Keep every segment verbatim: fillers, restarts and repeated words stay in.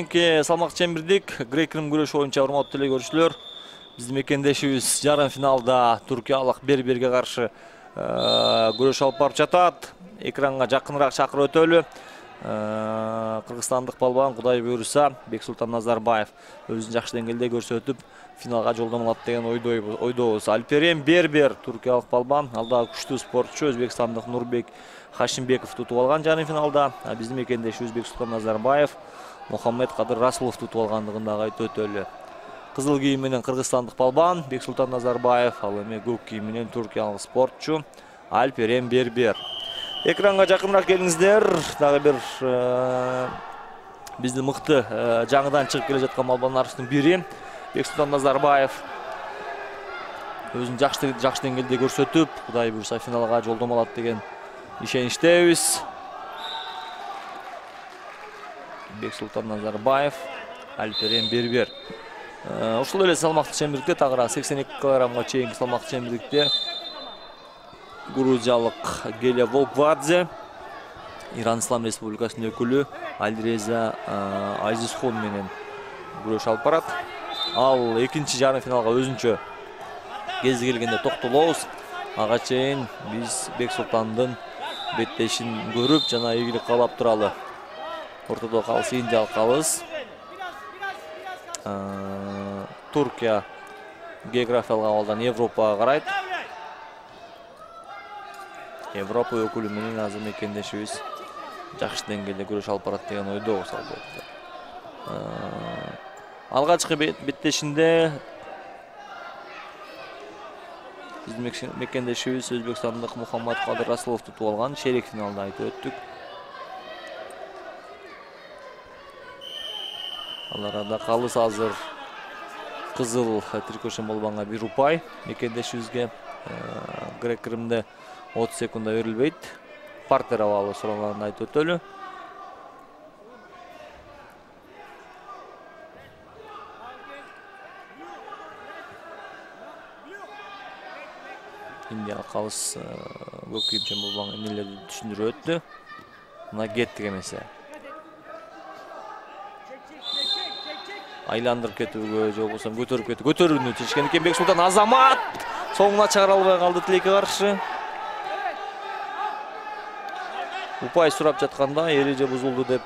кийинки салмак чембирдик грек-рим күрөшү боюнча урматтуу эле көрүүчүлөр, биздин мекендешибиз жарым финалда туркиялык бир-бирге каршы күрөш алып барып жатат. Экранга жакыныраак чакырып өтөлү. Кыргызстандык балбан Кудай буйруса Бексултан Назарбаев өзүн жакшы деңгээлде көрсөтүп финалга жолдомо алат деген ойдобуз. Альперен Бербер туркиялык балбан, алда күчтүү спортчу өзбекстандык Нурбек Хашимбеков тутуп алган жарым финалда. Биздин мекендешибиз Бексултан Назарбаев Мухаммед Кадыр Расулов тутуп алгандыгын дагы айтып өтөлү. Кызыл кийим менен кыргызстандык балбан Бексултан Назарбаев, ал эми көк кийим менен туркиялык спортчу Альперен Бербер. Экранга жакыныраак келиңиздер. Дагы бир биздин мыкты жаңыдан чыгып келе жаткан балбандарыбыздын бири Бексултан Назарбаев өзүн жакшы жакшы деңгээлде көрсөтүп, Кудай буйруса финалга жолдомо алат деген ишеничтебиз. Бексултан Назарбаев, Альперен Бербер. Ушул эле салмактуу чембирдикте тагыраак сексен эки килограммга чейинки салмактуу чембирдикте грузиялык Гелия Волквадзе, Иран Ислам Республикасынын өкүлү Альреза Азизхун менен күрөш алып барат. Ал экинчи жарым финалга өзүнчө кези келгенде токтолобуз. Ага чейин биз Бексултандын беттешин көрүп жана ийгилик каалап туралы. Ортодо калыс, Индиялык калыс. Туркия географиялык абалдан Европага карайт. Европа өкүлү менен азыр мекендешибиз жакшы деңгээлде күрөш алып барат деген ойдобуз албетте. Алгачкы беттешинде биздин мекендешибиз өзбекстандык Мухаммед Кадыр Расулов тутуп алган, шерек финалда айтып өттүк. Ал арада калыс азыр кызыл трикошен балбанга бир упай, мекендешибизге грек-римде отуз секунда берилбейт. Партер абалы сураганын айтып өтөлү. Индия калыс көк кийимчен балбан эмнелерди түшүндүрүп өттү. Мына кеттик эмесе. Айландырып кетүүгө, же болбосо көтөрүп кетти. Көтөрүүнү чечкен экен Бексултан. Азамат соңуна чыгара албай калды тилекке каршы. Упай сурап жатканда эреже бузулду деп.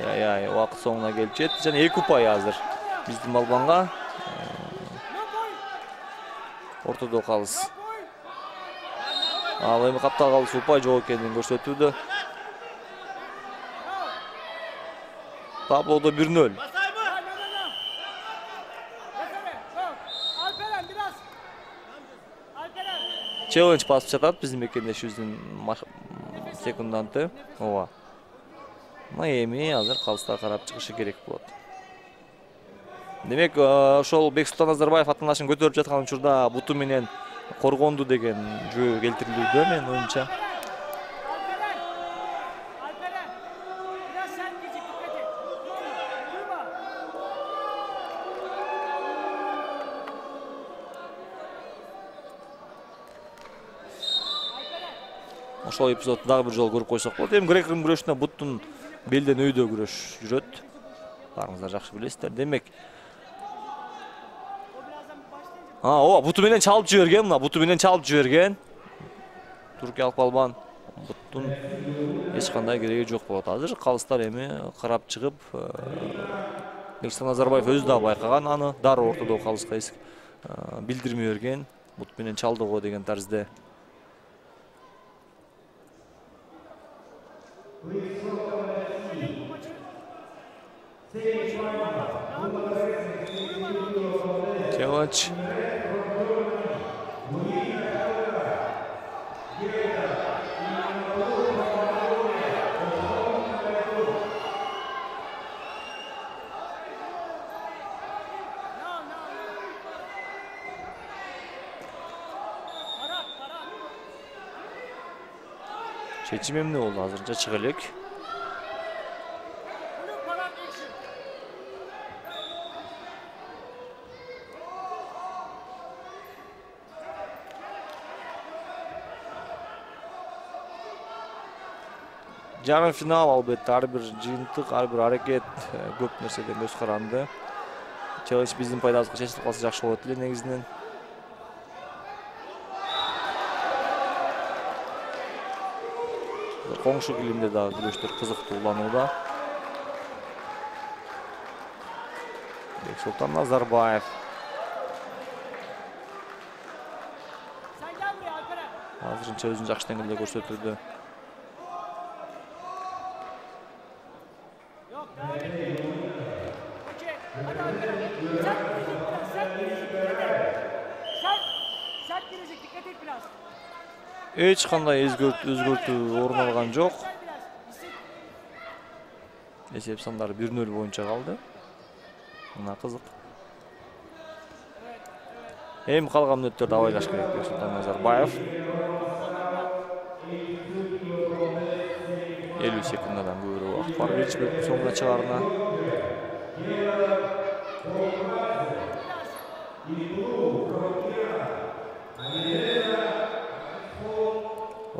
Ай-ай, убакыт соңуна келип жетти жана эки упай азыр биздин балбанга. Ортодо калыс. Ал эми каптал калыс упай жок экенин көрсөтүүдө. Таблодо бир нөл. Челлендж басып жатат биздин мекендешибиздин секунданты. Ооба. Мына эми азыр калыста карап чыгышы керек болот. Демек, ошол Бексултан Назарбаев атанашын көтөрүп жаткан учурда буту менен коргонду деген жөө келтирилүүдө менин оюмча. Ошол эпизодду дагы бир жолу көрүп койсок болот. Эми грек-рим күрөшүндө буттун белден өйдө күрөш жүрөт. Баарыңыздар жакшы билесиздер. Демек, А, ооба, буту менен чалып жиберген, мына буту менен чалып жиберген. Туркиялык балбан буттун эч кандай кереги жок болот. Азыр калыстар эми карап чыгып, Бексултан Назарбаев өзү да байкаган аны, дароо ортодо калыска билдирме берген. Бут менен чалды го деген тарзде. Челлендж. Чечим эмне болду азырынча чыга элек. жарым финал албетте ар бир жыйынтык, ар бир аракет көп нерседен көз каранды. Челлендж биздин пайдабызга чечилип калса жакшы болот эле негизинен. Коңшу килимде дагы күрөштөр кызыктуу уланууда. Бексултан Назарбаев. Азырынча өзүн жакшы деңгээлде көрсөтүүдө. Эч кандай өзгөртүү орун алган жок. Эсеп сандары бир нөл боюнча калды. Мына кызык. Эми калган мүнөттөрдө абайлаш керек Бексултан Назарбаев. элүү секундадан көбүрөөк убакыт бар биринчи бөлүктүн соңуна чыгарына.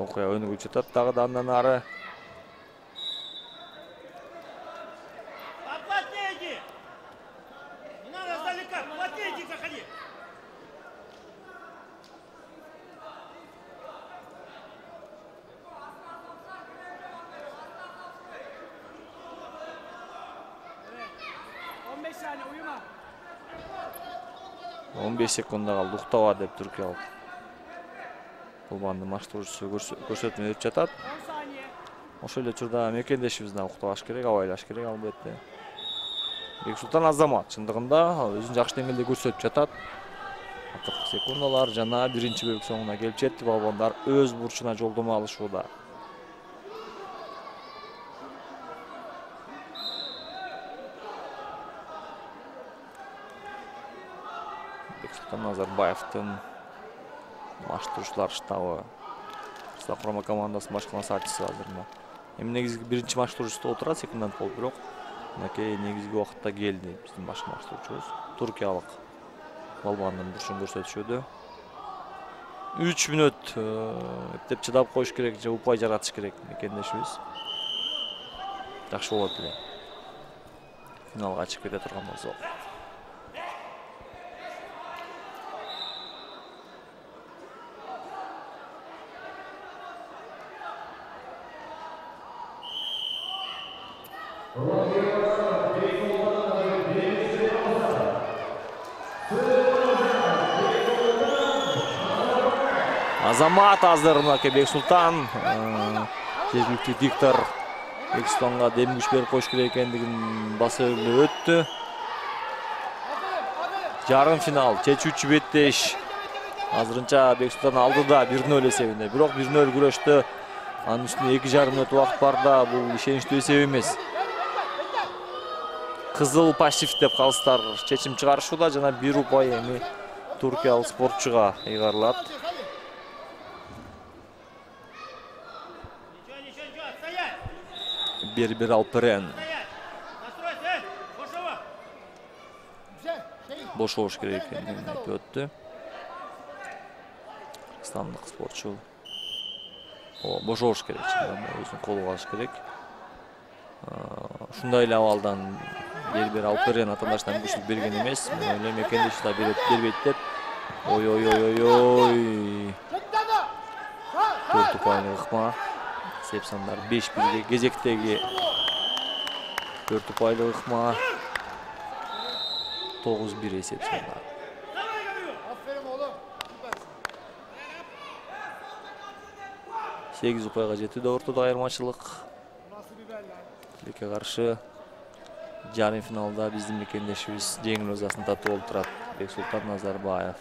Окуя өнүгүп жатат дагы да андан ары. он беш секунда калды, уктаба деп түркиялык Балбандын маштоочусу көрсөтмө берип жатат. Ошол эле учурда мекендешибиз да уктабаш керек, абайлаш керек албетте. Бексултан Азамат чындыгында өзүн жакшы деңгээлде көрсөтүп жатат. Акыркы секундалар жана биринчи бөлүк соңуна келип жетти. Балбандар өз бурчуна жолдомо алышууда. Бексултан Назарбаевдин маштоочулар штабы Кыргызстан курама командасынын башкы насаатчысы азырына. Эми негизги биринчи маштоочусу отурат, секундант болуп бирок мынакей негизги убакытта келди биздин башкы маштоочубуз. Туркиялык балбандын бурчун көрсөтүшүүдө. үч мүнөт эптеп чыдап коюш керек же упай жаратыш керек мекендешибиз. Жакшы болот эле. Финалга чыгып кете турган болсо. Азамат азыр мынакей Бексултан жергиликтүү диктор Бексултанга дем күч берип коюш керек экендигин баса белгилеп өттү. Жарым финал чечүүчү беттеш. Азырынча Бексултан алдыда бир нөл эсебинде. Бирок бир нөл күрөштө анын үстүнө эки жарым мүнөт убакыт бар да, бул ишеничтүү эсеп эмес. Кызыл пассив деп калыстар чечим чыгарышууда жана бир упай эми туркиялык спортчуга ыйгарылат. Бербер Алперен. Бошош керек экенин айтып өттү. Кыргызстандык спортчу. О, бошош керек, өзүн колго алыш керек. Ушундай эле абалдан Бербер Алперен атаандашынан күчүлүк берген эмес. Мен ойлойм мекендеши да бербейт деп. Ой ой ой ой ой. Төрт упайлык ыкма. Эсеп сандар беш бирге кезектеги төрт упайлык ыкма. тогуз бир эсеп сандар. сегиз упайга жетүүдө ортодо айырмачылык. Тилекке каршы жарым финалда биздин мекендешибиз жеңил ызасын татып болуп турат. Бексултан Назарбаев.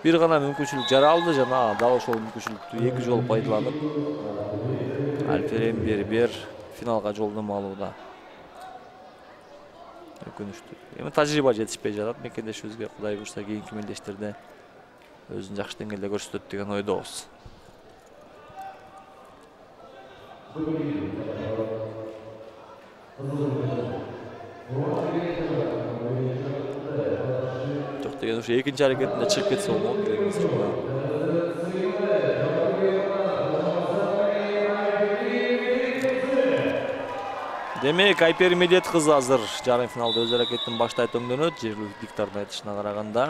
Бир гана мүмкүнчүлүк жаралды жана дал ошол мүмкүнчүлүктү эки жолу пайдаланып Алперен Бербер финалга жолдомо алууда. Өкүнүчтүү. Эми тажрыйба жетишпей жатат мекендешибизге. Кудай буйрса кийинки мелдештерде өзүн жакшы деңгээлде көрсөтөт деген ойдобуз. Жок деген ушу экинчи аракетинде чыгып кетсе болмок дегенбиз. Демек Айпери Медет кызы азыр жарым финалда өз аракетин баштайт өңдөнөт. Жергиликтүү диктардын айтышына караганда.